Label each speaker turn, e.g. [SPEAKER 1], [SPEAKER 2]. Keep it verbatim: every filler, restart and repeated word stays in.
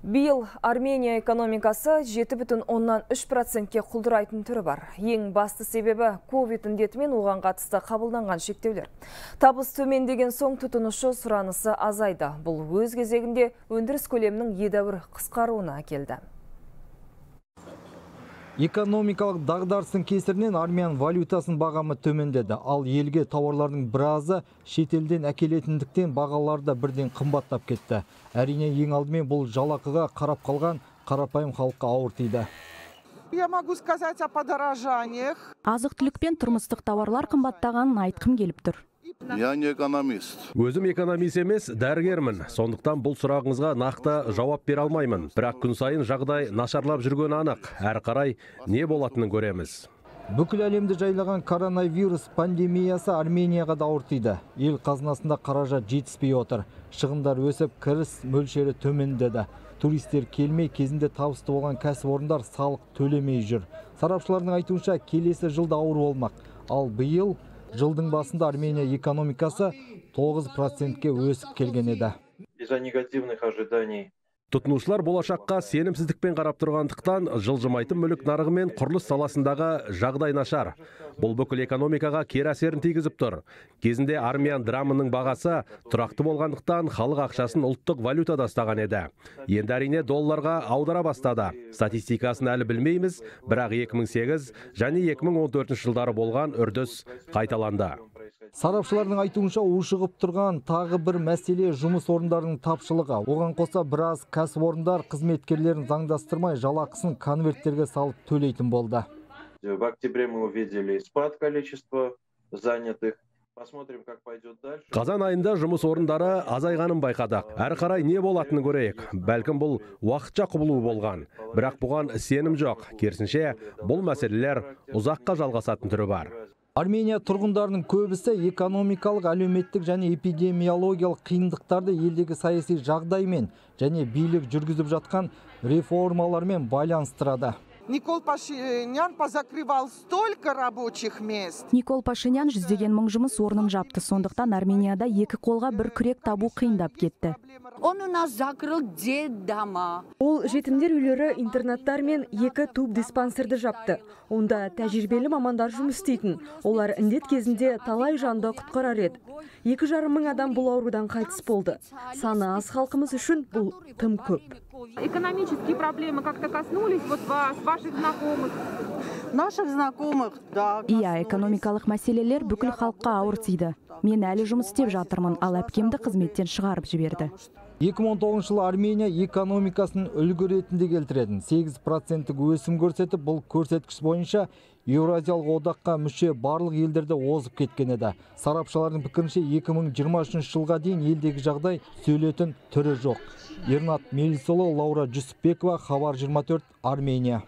[SPEAKER 1] Биыл Армения экономикасы жеті бүтін оннан үш процентке құлдырайтын түрі бар. Ең басты себебі ковид індетімен оған қатысты қабылданған шектеулер. Табыс төмендеген соң тұтынушы сұранысы азайды. Бұл өз кезегінде өндіріс көлемінің едәуір қысқаруына әкелді.
[SPEAKER 2] Экономикалық дағдарыстың кесірінен армян валютасын бағамы төмендеді. Ал елге тауарлардың біразы шетелден әкелетіндіктен бағалары да бірден қымбаттап кетті. Әрине ең алдымен бұл жалақыға қарап қалған қарапайым халыққа ауыр тиді.
[SPEAKER 3] Я могу сказать о подорожаниях.
[SPEAKER 4] Азық-түлік пен тұрмыстық тауарлар қымбаттағанын айтқым келіп тұр.
[SPEAKER 5] Я не экономист.
[SPEAKER 6] Өзім экономист емес, дәрігермін. Сондықтан бұл сұрағыңызға нақты жауап бере алмаймын. Бірақ күн сайын жағдай нашарлап жүргені анық. Әрі қарай не болатынын көреміз.
[SPEAKER 2] Бүкіл әлемді жайлаған коронавирус пандемиясы Арменияға да ауыр тиді. Ел қазынасында қаражат жетіспей отыр. Шығындар өсіп, кіріс мөлшері төмендеді. Туристер келмей, кезінде табысты болған кәсіпорындар салық төлемей жүр. Сарапшылардың айтуынша, келесі жылда ауыр болмақ. Ал биыл жылдың басында Армения экономикасы тоғыз процентке өсіп келген еді.
[SPEAKER 7] Из-за негативных ожиданий.
[SPEAKER 6] Тұтынушылар болашаққа сенімсіздікпен қарап тұрғандықтан жылжымайтын мүлік нарығы мен құрылыс саласындағы жағдай нашар. Бұл бүкіл экономикаға кері әсерін тигізіп тұр. Кезінде армян драмының бағасы тұрақты болғандықтан халық ақшасын ұлттық валютада ұстаған еді. Енді әрине долларға аудара бастады. Статистикасын әлі білмейміз, бірақ екі мың сегіз және екі мың он төртінші жылдары болған үрдіс қайталанды.
[SPEAKER 2] Сарапшылардың айтуынша ушығып тұрған тағы бір мәселе жұмыс орындарының тапшылығы. Оған қоса біраз кәсіпорындар қызметкерлерін заңдастырмай жалақысын конверттерге салып төлейтін болды.
[SPEAKER 7] В октябре мы увидели спад количества занятых. Посмотрим, как пойдет дальше.
[SPEAKER 6] Қазан айында жұмыс орындары азайғанын байқадық. Әрі қарай не болатынын көрейік. Бәлкім бұл уақытша құбылу болған. Бірақ бұған сенім жоқ. Керісінше, бұл мәселелер ұзаққа жалғасатын түрі бар.
[SPEAKER 2] Армения тұрғындарының көбісі экономикалық, әлеуметтік және эпидемиологиялық қиындықтарды елдегі саяси жағдаймен және билік жүргізіп жатқан реформалармен байланыстырады.
[SPEAKER 3] Никол Пашинян позакрывал столько рабочих мест.
[SPEAKER 4] Никол Пашинян жүздеген мың жұмыс орнын жапты. Сондықтан Арменияда екі қолға бір күрек табу қиындап кетті.
[SPEAKER 8] Он у нас закрыл детдома.
[SPEAKER 1] Ол жетімдер үйлері, интернаттар мен екі туб диспансерді жапты. Онда тәжірибелі мамандар жұмыс істейтін. Олар індет кезінде талай жанды құтқарар еді. Екі жарым мың адам бұл аурудан қайтыс болды. Саны аз халқымыз үшін бұл тым көп.
[SPEAKER 9] Экономические проблемы как-то коснулись вот вас, ваших знакомых?
[SPEAKER 3] Наших знакомых, да.
[SPEAKER 4] Иә, экономикалық мәселелер бүкіл халыққа ауыр тиді. Мен әлі жұмыс істеп жатырмын, ал әпкемді қызметтен шығарып жіберді.
[SPEAKER 2] екі мың он тоғызыншы жылы Армения экономикасын үлгі ретінде келтіреді. сегіз проценттік өсім көрсетіп, бұл көрсеткіш бойынша Еуразиялық одаққа мүше барлық елдерде озып кеткен еді. Сарапшылардың пікірінше екі мың жиырма үшінші жылға дейін елдегі жағдай сөйлетін түрі жоқ. Ернат Мелисолы, Лаура Жүсіпбекова, Хабар жиырма төрт, Армения.